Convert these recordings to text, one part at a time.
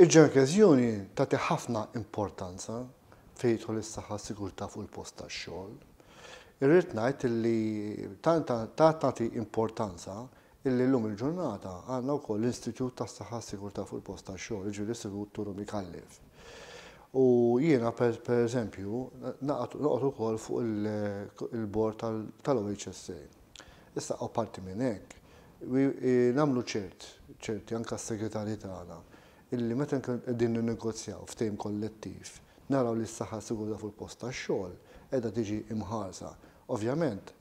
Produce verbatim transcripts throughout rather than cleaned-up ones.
Il-Joint Union tagħti ħafna importanza fejn jidħol is-saħħa, sigurtà fuq il-post tax-xogħol. Irrid ngħid li tant tagħti importanza illi llum il-ġurnata għandna wkoll l-Istitut tas-Saħħa, Sigurtà fuq il-post tax-xogħol, jiġifieri l-Istitut Turu Micallef. U jiena, per eżempju, noqgħod ukoll fuq il-board tal-O H S A. Issa, apparti minn hekk, nagħmlu ċert, ċerti anke s-segretarji tagħna, illi meta qegħdin ninnegozjaw ftehim kollettiv, naraw li s-saħħa, sigurtà fuq il-post tax-xogħol qiegħda tiġi imħarsa. Ovvjament,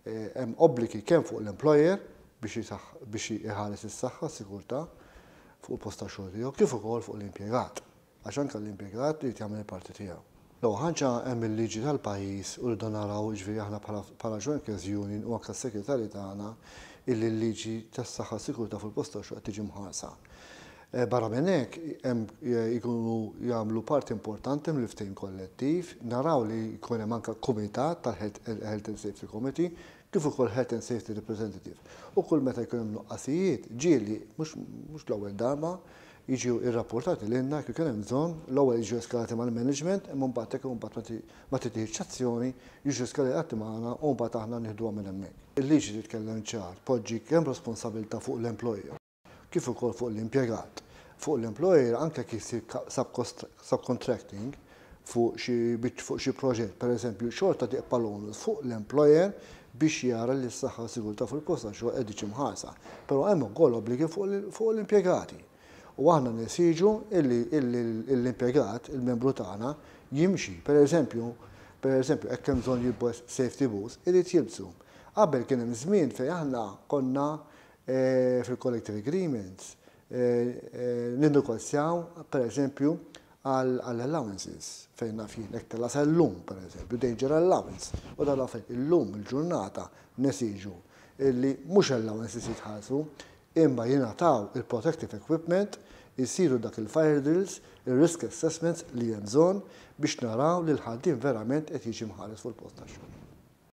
eh, hemm obbligi kemm fuq l-employer biex iħares is-saħħa, sigurtà fuq il-post tax-xogħol tiegħu, kif ukoll fuq l-impjegat. Għax anke l-impjegat li jagħmel il-parti tiegħu. L-ewwel ħaġa, hemm il-liġi tal-pajjiż u rridu naraw, ġifieri aħna bħala Joint Union u anke s-segretarji tagħna, illi l-liġi tas-saħħa, sigurtà fuq il-post tax-xogħol qed tiġi mħarsa. Eh, barra minn hekk, jkunu jagħmlu parti importanti mill-ftehim kollettiv, naraw li jkun hemm anke kumitat tal-Health and Safety Committee kif ukoll Health and Safety Representative. U kull meta jkun hemm nuqqasijiet, ġieli mhux l-ewwel darba jiġu irrapportati lilna. Kif kien hemm bżonn, l-ewwel jiġu eskalati mal-management, imma mbagħad hekk mbagħad ma titieħx azzjoni, jiġu eskalati magħna u mbagħad aħna nieħduha minn hemmhekk. Il-liġi titkellem ċar, poġġi kemm responsabilità fuq l-employer kif ukoll fuq l-impjegat. Fuq l-employer, anke kif isir subcontracting fuq xi fuq xi proġett, per eżempju, xorta tibqa' l-onus fuq l-employer biex jara li s-saħħa, sigurtà fuq il-post tax-xogħol qed tiġi mħarsa. Però hemm ukoll obbligi fuq l-impjegati. U aħna nesiġu illi l-impjegat, il-membru tagħna, jimxi. Per eżempju, per eżempju, hekk hemm bżonn jilbes safety boots, irid jilbsu. Qabel kien hemm żmien fejn aħna konna eh, fil-collective agreements eh, eh, ninnegozjaw, per eżempju, għall-allowances, fejn naf jien, hekk tella llum, per eżempju, danger allowance. U dal fejn illum il-ġurnata nesiġu illi mhux allowances jitħallsu, imma jingħataw il-protective equipment, jisiru dak il-fire drills, il-risk assessments li hemm bżonn biex naraw li l-ħaddiem verament qed jiġi mħares fuq il-post tax-xogħol.